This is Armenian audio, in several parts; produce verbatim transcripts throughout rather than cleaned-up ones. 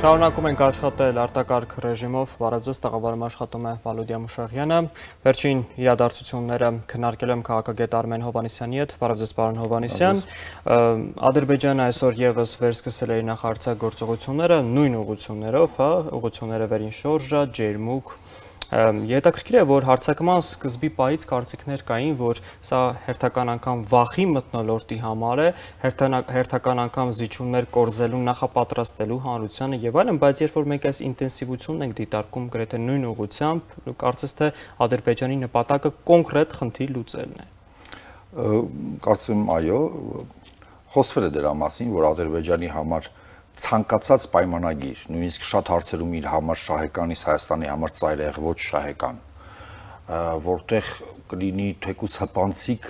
Շարունակում ենք աշխատել արտակարգ ռեժիմով, բարև ձեզ, տաղավարում աշխատում է Վալոդիա Մուշաղյանը, վերջին իրադարձությունները քննարկել եմ քաղաքագետ Արմեն Հովհաննիսյանի հետ, բարև ձեզ պարոն Հովհաննիսյան, Ադրբեջանը այսօր ևս վերսկսել է իր նախարարցագործողությունները նույն ուղղություններով, ուղղությունները վերին շորժա, ջերմուկ, Հետաքրքիր է, որ հարձակման սկզբի պահից կարծիքներ կային, որ սա հերթական անգամ վախի մթնոլորտի համար է, հերթական անգամ զիջումներ կորզելու, նախապատրաստելու հանրությանը եւ այլն, բայց երբ որ մենք այս ինտենսիվությունն ենք դիտարկում գրեթե նույն ուղղությամբ, կարծես թե Ադրբեջանի նպատակը կոնկրետ խնդիր լուծելն է։ Կարծում եմ, այո, խոսվել է դրա մասին, որ Ադրբեջանի համար ցանկացած պայմանագիր, նույնիսկ շատ հարցերում իր համար շահեկան, իսկ Հայաստանի համար ծայրահեղ ոչ շահեկան, որտեղ կլինի թեկուզ հպանցիկ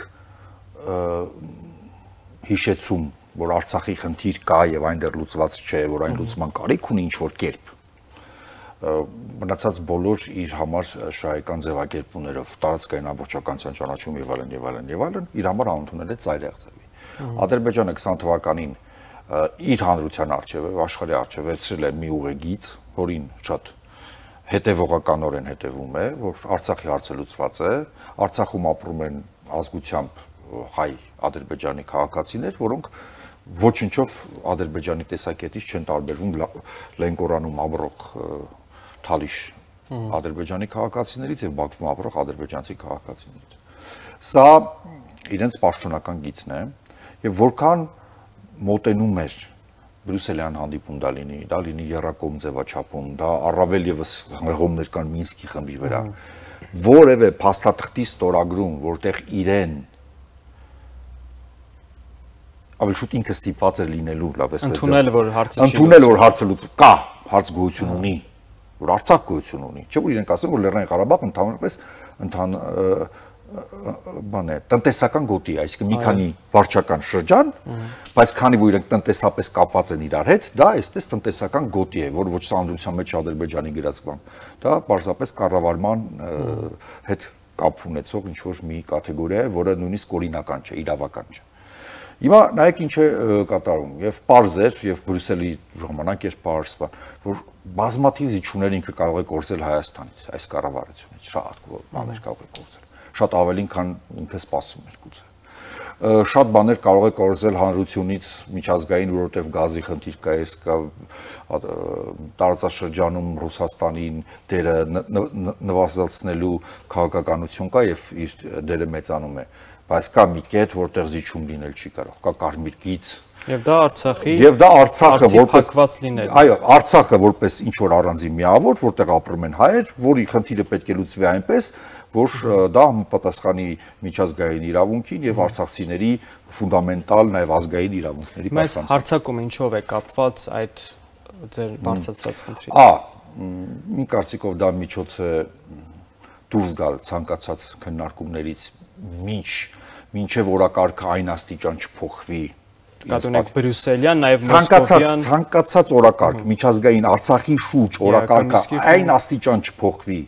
հիշեցում, որ Արցախի խնդիր կա եւ այն դեռ լուծված չէ, որ այն լուծման կարիք ունի ինչ-որ կերպ, մնացած բոլոր իր համար շահեկան ձևակերպումներով, տարածքային ամբողջականության ճանաչում եւ այլն եւ այլն եւ այլն, իր համար անընդունել է ծայրահեղ ձևի։ Ադրբեջանը քսան թվականին իր հանրության առջև եւ աշխարհի առջև վերցրել է մի ուղեգիծ, որին շատ հետևողականորեն հետևում է, որ Արցախի հարցը լուծված է, Արցախում ապրում են ազգությամբ հայ ադրբեջանի քաղաքացիներ, որոնք ոչնչով Ադրբեջանի տեսակետից չեն տարբերվում Լենկորանում ապրող Թալիշ ադրբեջանի քաղաքացիներից եւ Բաքվում ապրող ադրբեջանցի քաղաքացիներից։ Սա իրենց պաշտոնական գիծն է եւ որքան մոտենում էր Բրյուսելյան հանդիպում դա լինի, դա լինի եռակողմ ձևաչափում, դա առավել եւս հղումներ կան Մինսկի խմբի վրա, որևէ փաստաթղթի ստորագրում, որտեղ իրեն ավելի շուտ ինքը ստիպված էր լինելու, լավ էսպես ընդունել, որ հարցը չի ընդունել, որ հարցը լուծվում, կա, հարց գոյություն ունի, որ Արցախ գոյություն ունի, չէ՞ որ իրենք ասում, որ Լեռնային Ղարաբաղը ընդհանրապես ընթան բան է, տնտեսական գոտի է, այսինքն մի քանի վարչական շրջան, բայց քանի որ իրենք տնտեսապես կապված են իրար հետ, դա այսպես տնտեսական գոտի է, որ ոչ սանդրության մեջ Ադրբեջանի գրած բան, դա պարզապես կառավարման հետ կապ ունեցող ինչ-որ մի կատեգորիա է, որը նույնիսկ օրինական չէ, իրավական չէ։ Հիմա նայեք ինչ է կատարում, եւ պարզ էր, եւ Բրյուսելի ժամանակ էր պարզ, որ բազմաթիվ զիջումներ ինքը կարող է կորզել Հայաստանից, այս կառավարությունից, շատ բաներ կարող է կորզել, շատ ավելին, քան ինքը սպասում էր գուցե։ Շատ բաներ կարող է կորզել հանրությունից միջազգային, որովհետև գազի խնդիր կա, այս կա տարածաշրջանում Ռուսաստանին դերը նվազեցնելու քաղաքականություն կա եւ իր դերը մեծանում է, բայց կա մի կետ, որտեղ զիջում լինել չի կարող, կա կարմիր գիծ Եվ դա Արցախի Եվ դա Արցախը որպես այո, Արցախը որպես ինչ որ առանձին միավոր, որտեղ ապրում են հայեր, որի խնդիրը պետք է լուծվի այնպես, որ դա համապատասխանի միջազգային իրավունքին եւ արցախցիների ֆունդամենտալ նաեւ ազգային իրավունքների պաշտպանության։ Բայց հարցակումը ինչով է կապված այդ ձեր բարձրացած խնդրի։ Ա, իմ կարծիքով դա միջոց է դուրս գալ ցանկացած քննարկումներից, մինչ մինչեւ օրակարգը այն աստիճան չփոխվի։ Կատունեք Բրյուսելյան, նաև Մոսկովյան ցանկացած օրակարգ, միջազգային Արցախի շուրջ օրակարգը այն աստիճան չփոխվի,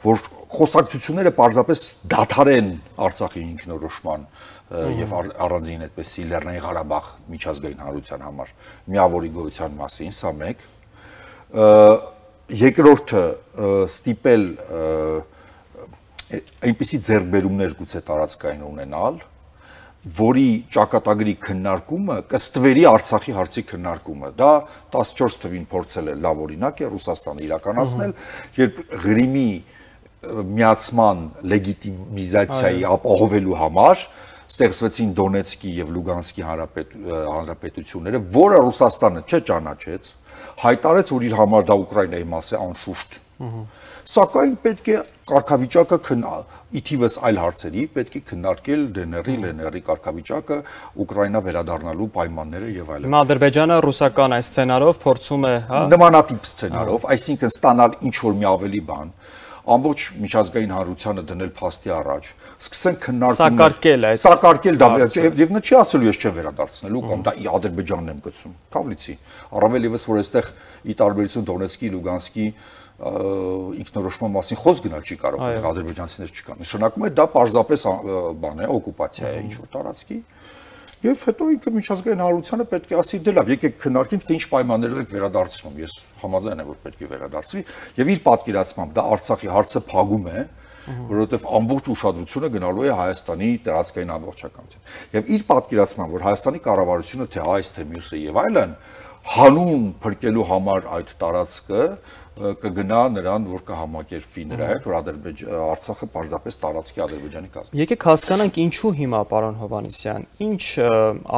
որ խոսակցությունները պարզապես դադարեն Արցախի ինքնորոշման եւ առանձին այդպեսի Լեռնային Ղարաբաղ միջազգային հանրության համար միավորի գոյության մասին, սա մեկ։ Երկրորդը ստիպել այնպիսի ձեռքբերումներ գուցե տարածքային ունենալ, որի ճակատագրի քննարկումը կստվերի Արցախի հարցի քննարկումը։ Դա տասնչորս թվին փորձել է լավ օրինակ է Ռուսաստանը իրականացնել, երբ Ղրիմի միացման լեգիտիմիզացիայի ապահովելու համար ստեղծվեցին Դոնեցկի եւ Լուգանսկի հանրապետությունները, որը Ռուսաստանը չճանաչեց, հայտարարեց, որ իր համար դա Ուկրաինայի մաս է անշուշտ։ Սակայն պետք է կարգավիճակը ի թիվս այլ հարցերի պետք է քննարկել դե-ն-երի, Լեն-երի կարգավիճակը, Ուկրաինա վերադառնալու պայմանները եւ այլն։ Հիմա Ադրբեջանը ռուսական այս սցենարով փորձում է, հա, նմանատիպ սցենարով, այսինքն ստանալ ինչ-որ մի ավելի բան, ամբողջ միջազգային հանրությանը դնել փաստի առաջ, սկսեն քննարկումներ, սակարկել այդ սակարկել դա եւ նա չի ասելու ես չեմ վերադարձնելու կամ դա Ադրբեջանն եմ գցում, Թավլիցի, առավել եւս որ այստեղ ի տարբերություն Դոնեցկի, Լուգանսկի ինքնորոշման մասին խոսք գնալ չի կարող, ադրբեջանցիներ չկան։ Նշանակում է դա պարզապես բան է, օկուպացիա է ինչ որ տարածքի Եվ հետո ինքը միջազգային հանրությանը պետք է ասի դե լավ, եկեք քննարկենք, թե ինչ պայմաններով եք վերադարձնում։ Ես համաձայն եմ, որ պետք է վերադարձվի, եւ իր պատկերացմամբ դա Արցախի հարցը փակում է, որովհետեւ ամբողջ ուշադրությունը գնալու է Հայաստանի տարածքային ամբողջականության։ Եվ իր պատկերացմամբ, որ Հայաստանի կառավարությունը թե այս թե մյուսը եւ այլն հանուն փրկելու համար այդ տարածքը կգնա նրան, որ կհամակերպվի նրա հետ, որ Արցախը պարզապես տարածքի Ադրբեջանի կազմի։ Եկեք հասկանանք ինչու հիմա, պարոն Հովհաննիսյան, ինչ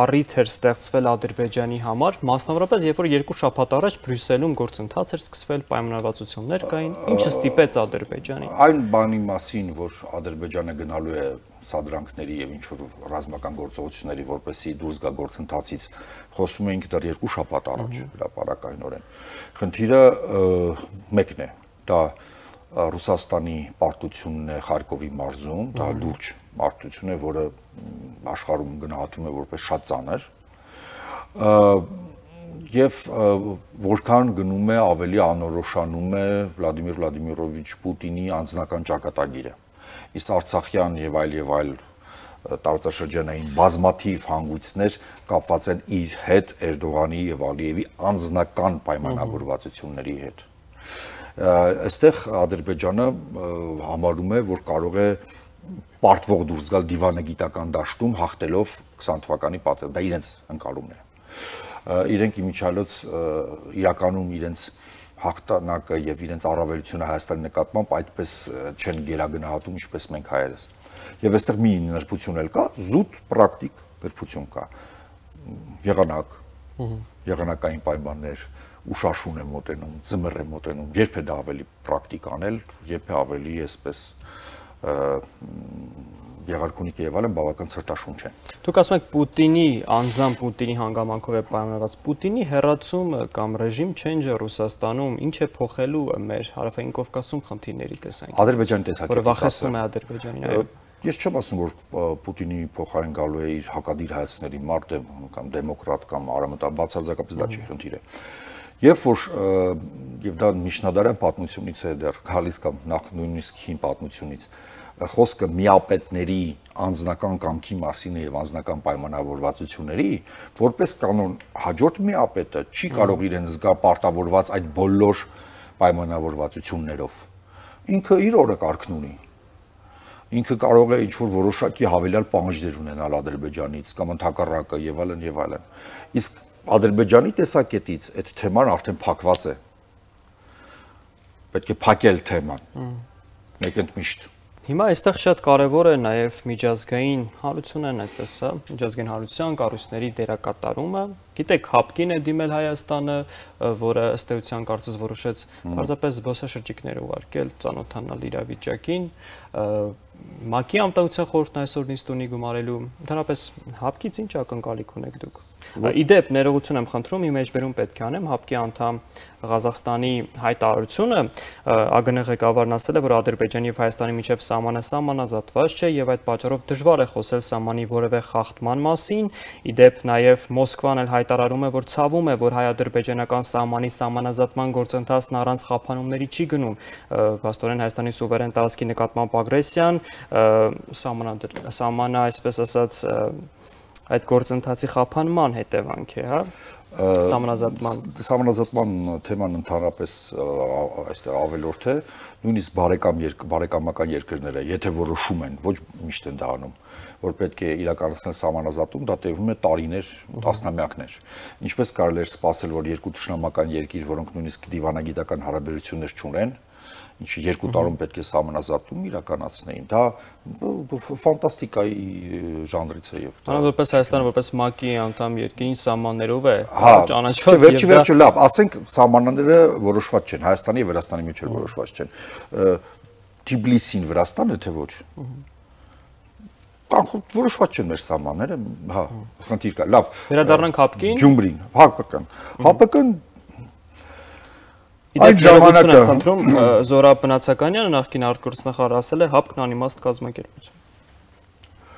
առիթ էր ստեղծվել Ադրբեջանի համար, մասնավորապես երբ որ երկու շաբաթ առաջ Բրյուսելում գործընթաց էր սկսվել, պայմանավորվածություններ կային, ինչը ստիպեց Ադրբեջանին։ Այն բանի մասին, որ Ադրբեջանը գնալու է սադրանքների եւ ինչ որ ռազմական գործողությունների, որպեսզի դուրս գա գործընթացից, խոսում էինք դեռ երկու շաբաթ առաջ հրապարակայնորեն։ Խնդիրը մեկն է, դա Ռուսաստանի պարտությունն է Խարկովի մարզում, դա լուրջ պարտություն է, որը աշխարհում գնահատվում է որպես շատ ծանր, եւ որքան գնում է ավելի անորոշանում է Վլադիմիր Վլադիմիրովիչ Պուտինի անձնական ճակատագիրը։ Իսկ Արցախյան եւ այլ եւ այլ տարածաշրջանային բազմաթիվ հանգույցներ կապված են իր հետ Էրդողանի եւ Ալիևի անձնական պայմանավորվածությունների հետ։ Այստեղ Ադրբեջանը համարում է, որ կարող է պարտվող դուրս գալ դիվանագիտական դաշտում հաղթելով քսան թվականի պատերազմ, դա իրենց ընկալումն է։ Իրենք իմիջիալոց իրականում իրենց հաղթանակը եւ իրենց առավելությունը Հայաստանի նկատմամբ այդպես չեն գերագնահատում, ինչպես մենք հայերս։ Եվ այստեղ մի նրբություն էլ կա, զուտ պրակտիկ նրբություն կա։ Եղանակ, եղանակային պայմաններ, ուշաշուն է մոտենում, ձմեռ է մոտենում, երբ է դա ավելի պրակտիկ անել, երբ է ավելի այսպես Եղարքունիքը եւ այլն բավական ցրտաշունչ են։ Դուք ասում եք Պուտինի անձամբ Պուտինի հանգամանքով է պայմանավորված։ Պուտինի հերացումը կամ ռեժիմ չենջը Ռուսաստանում ինչ է փոխելու մեր հարավային Կովկասում խնդիրների տեսանկյունից։ Ադրբեջանի տեսանկյունից։ Որը վախեցնում է Ադրբեջանին, այո։ Ես չեմ ասում, որ Պուտինի փոխարեն գալու է իր հակադիր հայացքների մարդ կամ դեմոկրատ կամ արամտաբացարձակապես դա չի խնդիրը։ Եվ որ եւ դա միջնադարյան պատմությունից է դեռ գալիս կամ նախ նույնիսկ հին պատմությունից խոսքը միապետների անձնական կամքի մասին եւ անձնական պայմանավորվածությունների, որպես կանոն հաջորդ միապետը չի կարող իրեն զգա պարտավորված այդ բոլոր պայմանավորվածություններով։ Ինքը իր օրը կարգն ունի։ Ինքը կարող է ինչ-որ որոշակի հավելյալ պահանջներ ունենալ Ադրբեջանից կամ ընդհակառակը եւ այլն եւ այլն։ Իսկ Ադրբեջանի տեսակետից այդ թեման արդեն փակված է։ Պետք է փակել թեման։ Մեկ ընդմիշտ։ Հիմա այստեղ շատ կարևոր է նաև միջազգային հարությունն այդպես է, միջազգային հարության կառույցների դերակատարումը։ Գիտեք, հապկին է դիմել Հայաստանը, որը ըստ էության կարծես որոշեց պարզապես զբոսաշրջիկներ ուղարկել, ծանոթանալ իրավիճակին։ ՄԱԿ-ի անվտանգության խորհուրդն այսօր նիստ ունի գումարելու, ընդհանրապես հապկից ինչ ակնկալիք ունեք դուք։ Իդեպ ներողություն եմ խնդրում, իմ մեջբերում պետք է անեմ, հապկի անդամ Ղազախստանի հայտարարությունը ԱԳՆ ղեկավարն ասել է, որ Ադրբեջանի եւ Հայաստանի միջև սահմանը սահմանազատված չէ եւ այդ պատճառով դժվար է խոսել սահմանի որևէ խախտման մասին։ Իդեպ նաեւ Մոսկվան էլ հայտարարում է, որ ցավում է, որ հայ-ադրբեջանական սահմանի սահմանազատման գործընթացն առանց խափանումների չի գնում։ Փաստորեն Հայաստանի սուվերեն տարածքի նկատմամբ ագրեսիան, սահմանը, այսպես ասած, այդ գործընթացի խափանման հետևանք է, հա, սահմանազատման սահմանազատման թեման ընդհանրապես այստեղ ավելորդ է, նույնիսկ բարեկամ բարեկամական երկրները, եթե որոշում են, ոչ միշտ են դա անում, որ պետք է իրականացնել սահմանազատում, դա տևում է տարիներ, տասնամյակներ։ Ինչպես կարելի է սպասել, որ երկու թշնամական երկիր, որոնք նույնիսկ դիվանագիտական հարաբերություններ չունեն, ինչի երկու տարում պետք է սահմանազատում իրականացնեին, դա ֆանտաստիկայի ժանրից է եւ դա որպես Հայաստանը որպես ՄԱԿ-ի անդամ երկրին սահմաններով է ճանաչված եւ դա վերջի լավ, ասենք սահմանները որոշված չեն, Հայաստանի եւ Վրաստանի միջեւ որոշված չեն։ Թբիլիսին Վրաստանը թե ոչ։ Կանխորդ որոշված չեն մեր սահմանները, հա, խնդիր կա։ Լավ։ Վերադառնանք հապկին։ Գյումրին, հապկական։ Հապկական Իդեպ ժամանակը եմ խնդրում Զորաբ Բնացականյանը նախկին արտգործնախարար ասել է հապկն անիմաստ կազմակերպություն։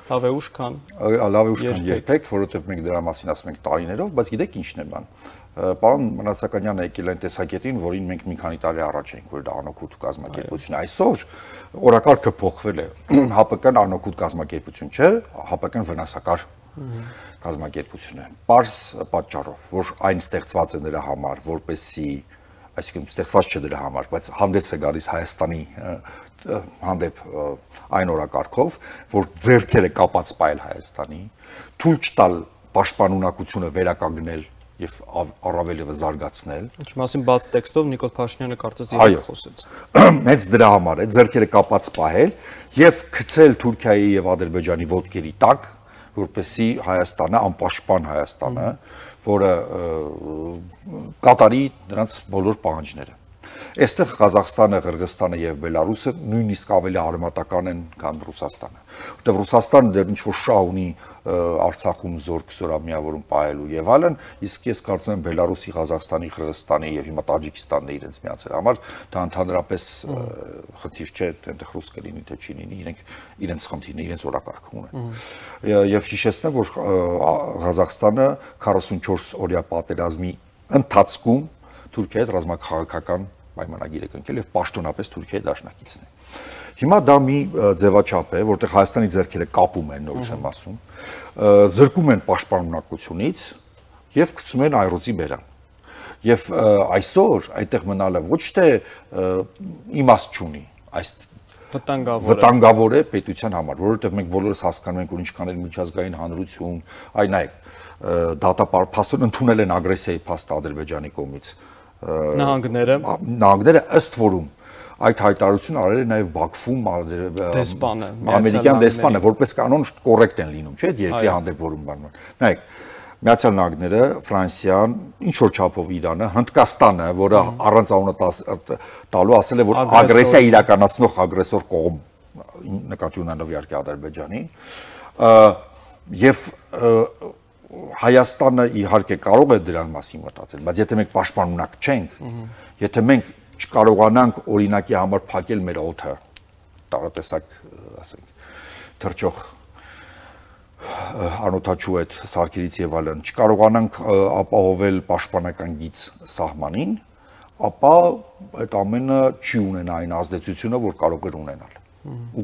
Լավ է ուշ քան։ Լավ է ուշ քան երբեք, որովհետև մենք դրա մասին ասում ենք տարիներով, բայց գիտեք ինչն է բան։ Պարոն Բնացականյանը եկել այն տեսակետին, որին մենք մի քանի տարի առաջ էինք, որ դա անօգուտ կազմակերպություն։ Այսօր օրակարգը փոխվել է։ ՀԱՊԿ-ն անօգուտ կազմակերպություն չէ, ՀԱՊԿ-ն վնասակար կազմակերպությունը։ Պարզ պատճառով, որ այն ստեղծված է նրա համար, որպեսզի, այսինքն ստեղծված չէ նրա համար, բայց հանդես է գալիս Հայաստանի հանդեպ այն օրակարգով, որ ձեռքերը կապած պայել Հայաստանի, թույլ չտալ պաշտպանունակությունը վերականգնել եւ առավելևս զարգացնել։ Ինչ մասին բաց տեքստով Նիկոլ Փաշինյանը կարծես իրենք խոսեց։ Հենց դրա համար է ձեռքերը կապած պահել եւ գցել Թուրքիայի եւ Ադրբեջանի ոտքերի տակ, որպեսզի Հայաստանը, անպաշտպան Հայաստանը, որը կատարի նրանց բոլոր պահանջները։ Այստեղ Ղազախստանը, Ղրղստանը եւ Բելարուսը նույնիսկ ավելի արմատական են, քան Ռուսաստանը։ Որտեղ Ռուսաստանը դեռ ինչ-որ շահ ունի Արցախում զորք զորամիավորում պահելու եւ այլն, իսկ ես կարծում եմ Բելարուսի, Ղազախստանի, Ղրղստանի եւ հիմա Տաջիկստանն է իրենց միացել համար, դա ընդհանրապես խնդիր չէ, այնտեղ ռուս կլինի թե չի լինի, իրենք իրենց խնդիրն է, իրենց օրակարգ ունեն։ Եվ հիշեցնեմ, որ Ղազախստանը քառասունչորս օրյա պատերազմի ընթացքում Թուրքիայի հետ ռազմաքաղաքական պայմանագիր է կնքել եւ պաշտոնապես Թուրքիայի դաշնակիցն է։ Հիմա դա մի ձևաչափ է, որտեղ Հայաստանի ձեռքերը կապում են, նորից եմ ասում, զրկում են պաշտպանունակությունից եւ գցում են այրոցի բերան։ Եվ այսօր այդտեղ մնալը ոչ թե իմաստ չունի, այս վտանգավոր է պետության համար, որովհետեւ մենք բոլորս հասկանում ենք, որ ինչքան էլ միջազգային հանրություն, այ նայեք, դատապարտել ընդունել են ագրեսիայի փաստը Ադրբեջանի կողմից։ Նահանգները նահանգները ըստ որում այդ հայտարարությունը արել է նաև Բաքվում դեսպանը, ամերիկյան դեսպանը, որպես կանոն կոռեկտ են լինում, չէ՞, երկրի հանդեպ որում բանման։ Նայեք, Միացյալ Նահանգները, Ֆրանսիան, ինչ որ չափով Իրանը, Հնդկաստանը, որը առանց անունը տալու ասել է, որ ագրեսիա իրականացնող ագրեսոր կողմ, նկատի ունենալով իհարկե Ադրբեջանին, եւ Հայաստանը իհարկե կարող է դրան մասին մտածել, բայց եթե մենք պաշտպանունակ չենք, եթե մենք չկարողանանք օրինակի համար փակել մեր օդը, տարատեսակ, ասենք, թրջող անօթաչու այդ սարքերից եւ այլն, չկարողանանք ապահովել պաշտպանական գիծ սահմանին, ապա այդ ամենը չի ունենա այն ազդեցությունը, որ կարող էր ունենալ։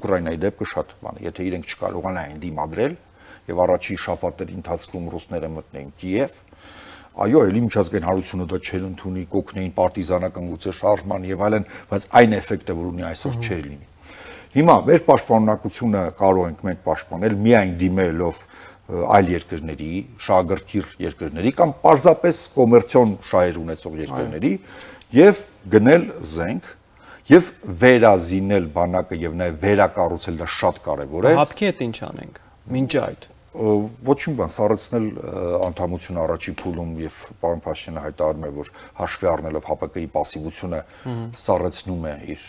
Ուկրաինայի դեպքը շատ բան է, եթե իրենք չկարողանային դիմադրել եւ առաջի շաբաթների ընթացքում ռուսները մտնեին Կիև, այո, ելի միջազգային հանրությունը դա չէր ընդունի, կօգնեին պարտիզանական գուցե շարժման եւ այլն, բայց այն էֆեկտը, որ ունի այսօր չէր լինի։ Հիմա մեր պաշտպանունակությունը կարող ենք մենք պաշտպանել միայն դիմելով այլ երկրների, շահագրգիռ երկրների կամ պարզապես կոմերցիոն շահեր ունեցող երկրների եւ գնել զենք եւ վերազինել բանակը եւ նաեւ վերակառուցել, դա շատ կարեւոր է։ Հապկի հետ ինչ անենք։ Մինչ այդ ոչինչ բան սառեցնել անդամություն առաջի փուլում եւ պարոն Փաշինյանը հայտարարում է, որ հաշվի առնելով ՀԱՊԿ-ի պասիվությունը սառեցնում է իր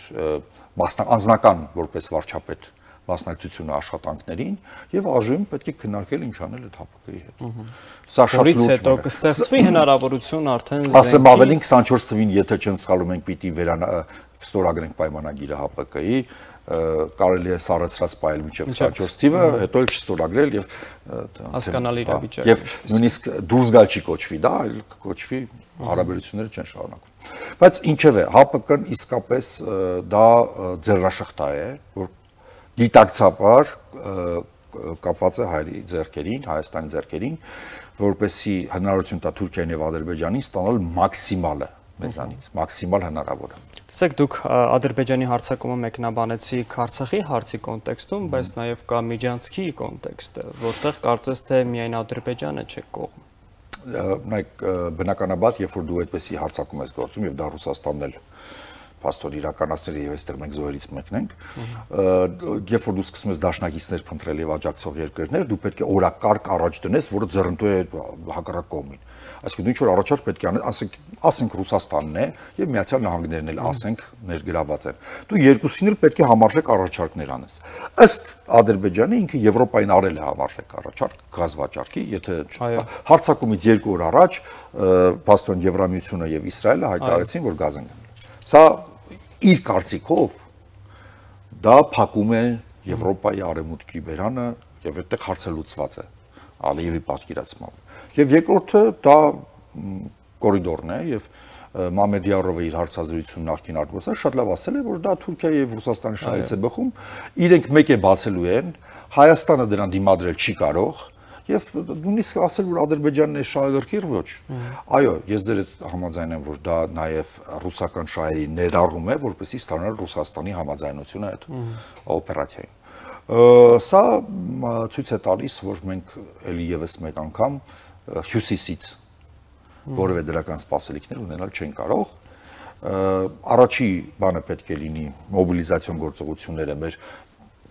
անձնական որպես վարչապետ մասնակցությունը աշխատանքներին եւ այժմ պետք է քննարկել ինչ անել այդ ՀԱՊԿ-ի հետ։ Սա շատ լուրջ է։ Հետո կստեղծվի հնարավորություն արդեն ասեմ ավելին քսանչորս թվին, եթե չեն սխալվում, ենք պիտի վերստորագրենք պայմանագիրը ՀԱՊԿ-ի, կարելի է սառեցրած պայել մինչև քսանչորս թիվը, հետո էլ չստորագրել եւ հասկանալի իրավիճակ։ Եվ նույնիսկ դուրս գալ չի կոչվի դա, այլ կոչվի հարաբերությունները չեն շարունակվում։ Բայց ինչևէ, ՀԱՊԿ-ն իսկապես դա ձեռնաշղթա է, որ գիտակցաբար կապված է հայերի ձեռքերին, Հայաստանի ձեռքերին, որպեսզի հնարավորություն տա Թուրքիային եւ Ադրբեջանին ստանալ մաքսիմալը մեզանից, մաքսիմալ հնարավորը։ Տեսեք, դուք Ադրբեջանի հարձակումը մեկնաբանեցիք Արցախի հարցի կոնտեքստում, բայց նաև կա Միջանցքի կոնտեքստը, որտեղ կարծես թե միայն Ադրբեջանը չէ կողմ։ Նայեք, բնականաբար, երբ որ դու այդպեսի հարձակում ես գործում եւ դա Ռուսաստանն էլ փաստորեն իրականացնել եւ այստեղ մենք զոհերից մեկն ենք, երբ որ դու սկսում ես դաշնակիցներ փնտրել եւ աջակցող երկրներ, դու պետք է օրակարգ առաջ դնես, որը ձեռնտու է հակառակ կողմին։ Այսինքն ինչ որ առաջարկ պետք է անել, ասենք, ասենք Ռուսաստանն է եւ Միացյալ Նահանգներն էլ ասենք ներգրաված են։ Դու երկուսին էլ պետք է համարժեք առաջարկներ անես։ Ըստ Ադրբեջանի ինքը Եվրոպային արել է համարժեք առաջարկ գազ վաճառքի, եթե հարձակումից երկու օր առաջ փաստորեն Եվրամիությունը եւ Իսրայելը հայտարարեցին, որ գազ են գնել։ Սա իր կարծիքով դա փակում է Եվրոպայի արևմուտքի բերանը եւ այդտեղ հարցը լուծված է Ալիևի պատկերացմամբ։ Եվ երկրորդը դա կորիդորն է եւ Մամեդիարովը իր հարցազրույցում նախկին արտգործը շատ լավ ասել է, որ դա Թուրքիայի եւ Ռուսաստանի շահից է բխում, իրենք մեկ է բացելու են, Հայաստանը դրան դիմադրել չի կարող Եվ նույնիսկ ասել, որ Ադրբեջանն է շահագրգիռ, ոչ։ Այո, ես ձեր հետ համաձայն եմ, որ դա նաև ռուսական շահերի ներառում է, որպեսզի ստանալ Ռուսաստանի համաձայնությունը այդ օպերացիային։ Սա ցույց է տալիս, որ մենք ելի եւս մեկ անգամ հյուսիսից որևէ դրական սպասելիքներ ունենալ չեն կարող։ Առաջի բանը պետք է լինի մոբիլիզացիոն գործողությունները մեր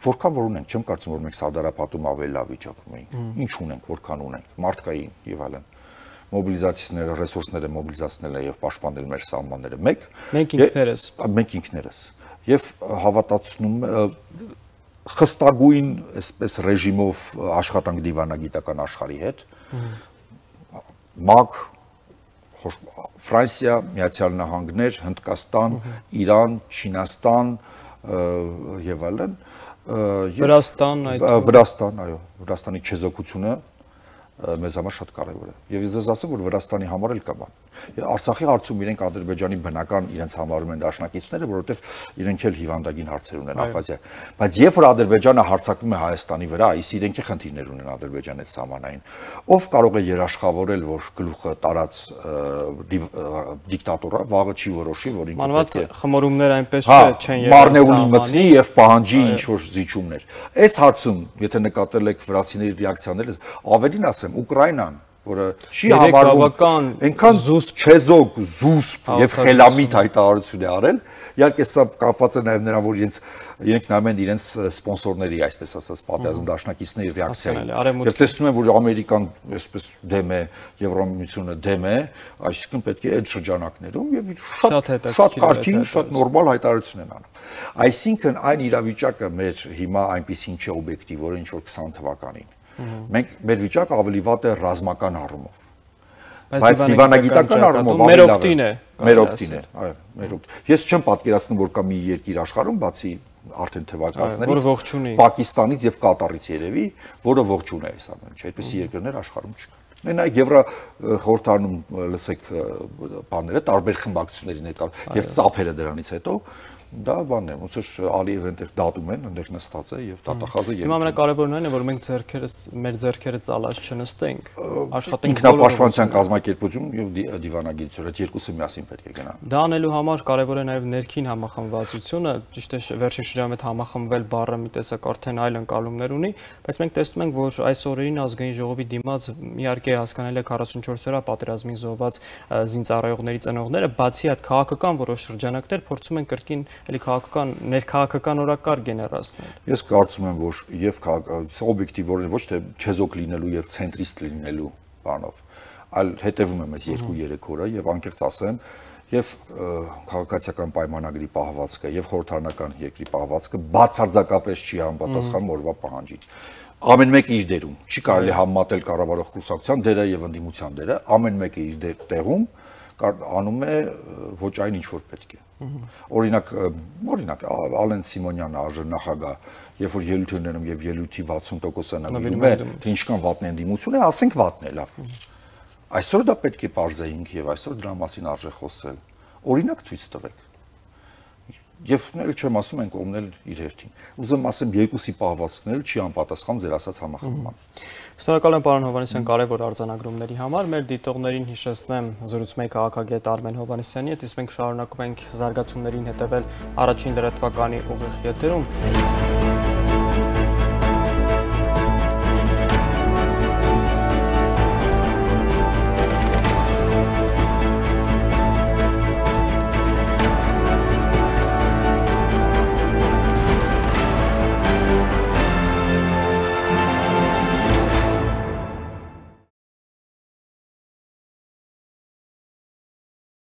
որքան որ ունենք, չեմ կարծում որ մենք Սարդարապատում ավելի լավ վիճակում էինք։ Ինչ ունենք, որքան ունենք, մարդկային եւ այլն։ Մոբիլիզացիաները, ռեսուրսները մոբիլիզացնելը եւ պաշտպանել մեր սահմանները մեկ։ Մենք ինքներս։ Մենք ինքներս։ Եվ հավատացնում խստագույն այսպես ռեժիմով աշխատանք դիվանագիտական աշխարհի հետ։ ՄԱԿ, Ֆրանսիա, Միացյալ Նահանգներ, Հնդկաստան, Իրան, Չինաստան եւ այլն Վրաստան, Վրաստան, այո, Վրաստանի չեզոքությունը մեզ համար շատ կարևոր է։ Եվ ես ասեմ, որ Վրաստանի համար էլ կա բան։ Արցախի հարցում իրենք Ադրբեջանի բնական իրենց համարում են դաշնակիցները, որովհետև իրենք էլ հիվանդագին հարցեր ունեն Աբխազիա։ Բայց երբ որ Ադրբեջանը հարձակվում է Հայաստանի վրա, իսկ իրենք խնդիրներ ունեն Ադրբեջանի հետ սահմանային, ով կարող է երաշխավորել, որ գլուխը տարած դիկտատորը վաղը չի որոշի, որ ինքը պետք է խմորումներ այնպես չեն եղել։ Մարնեուլին մտցնի եւ պահանջի ինչ որ զիջումներ։ Այս հարցում, եթե նկատել եք վրացիների ռեակցիաները, ավելին ասեմ, Ուկրաինան, որը չի համարվում այնքան չեզոք, զուսպ եւ խելամիտ հայտարարություն է արել, իհարկե սա կապված է նաեւ նրան, որ իրենց իրենք նայում են իրենց սպոնսորների, այսպես ասած, պատերազմ դաշնակիցների ռեակցիային։ Եվ տեսնում են, որ Ամերիկան այսպես դեմ է, Եվրամիությունը դեմ է, այսինքն պետք է այդ շրջանակներում եւ շատ շատ կարճին, շատ նորմալ հայտարարություն են անում։ Այսինքն այն իրավիճակը մեր հիմա այնպեսին չէ օբյեկտիվ, որ ինչ որ քսան թվականին Մենք մեր վիճակը ավելի վատ է ռազմական առումով։ Բայց դիվանագիտական առումով մեր օգտին է։ Մեր օգտին է, այո, մեր օգտ։ Ես չեմ պատկերացնում, որ կա մի երկիր աշխարհում, բացի արդեն թվակացներից, Պակիստանից եւ Կատարից երևի, որը ողջուն է այս ամենը, չէ՞, այդպիսի երկրներ աշխարհում չկան։ Մենակ Եվրո խորհրդարանում լսեք բաները, տարբեր խմբակցությունների ներկա եւ ծափերը դրանից հետո դա բանն է, ոնց որ Ալիևը այնտեղ դատում են, այնտեղ նստած է եւ դատախազը եւ Հիմա ամենակարևորն այն է, որ մենք ձեռքերս մեր ձեռքերը ծալած չնստենք, աշխատենք ինքնապաշտպանության կազմակերպություն եւ դիվանագիտություն, այդ երկուսը միասին պետք է գնան։ Դա անելու համար կարևոր է նաեւ ներքին համախմբվածությունը, ճիշտ է վերջին շրջանում այդ համախմբվել բառը մի տեսակ արդեն այլ ընկալումներ ունի, բայց մենք տեսնում ենք, որ այս օրերին ազգային ժողովի դիմաց իհարկե հասկանալի է քառասունչորս օրյա պատերազմին զոհված զինծառայողների ծնողները, բացի այդ քաղաքական որոշ շրջանակներ փորձում են կրկին Էլի քաղաքական ներքաղաքական օրակարգ գեներացնել։ Ես կարծում եմ, որ եւ օբյեկտիվորեն ոչ թե չեզոք լինելու եւ ցենտրիստ լինելու բանով, այլ հետևում եմ այս երկու-երեք օրը եւ անկեղծ ասեմ, եւ քաղաքացիական պայմանագրի պահվածքը եւ խորհրդարանական երկրի պահվածքը բացարձակապես չի համապատասխանում օրվա պահանջին։ Ամեն մեկը իր դերում, չի կարելի համեմատել կառավարող կուսակցության դերը եւ ընդդիմության դերը, ամեն մեկը իր տեղում անում է ոչ այն ինչ որ պետք է։ Օրինակ, օրինակ Ալեն Սիմոնյանը արժանախագահ, երբ որ ելույթ ունենում եւ ելույթի վաթսուն տոկոսը նվիրում է, թե ինչքան վատն է ընդդիմություն է, ասենք վատն է, լավ։ Այսօր դա պետք է բարձեինք եւ այսօր դրա մասին արժե խոսել։ Օրինակ ցույց տվեք։ Եվ նել չեմ ասում են կողմնել իր հերթին։ Ուզում ասեմ երկուսի պահվածքն էլ չի անպատասխան ձեր ասած համախմբման։ Շնորհակալ եմ պարոն Հովհաննիսյան կարևոր արձանագրումների համար։ Մեր դիտողներին հիշեցնեմ զրուցում էի քաղաքագետ Արմեն Հովհաննիսյանի հետ, իսկ մենք շարունակում ենք զարգացումներին հետևել առաջին լրատվականի ուղիղ եթերում։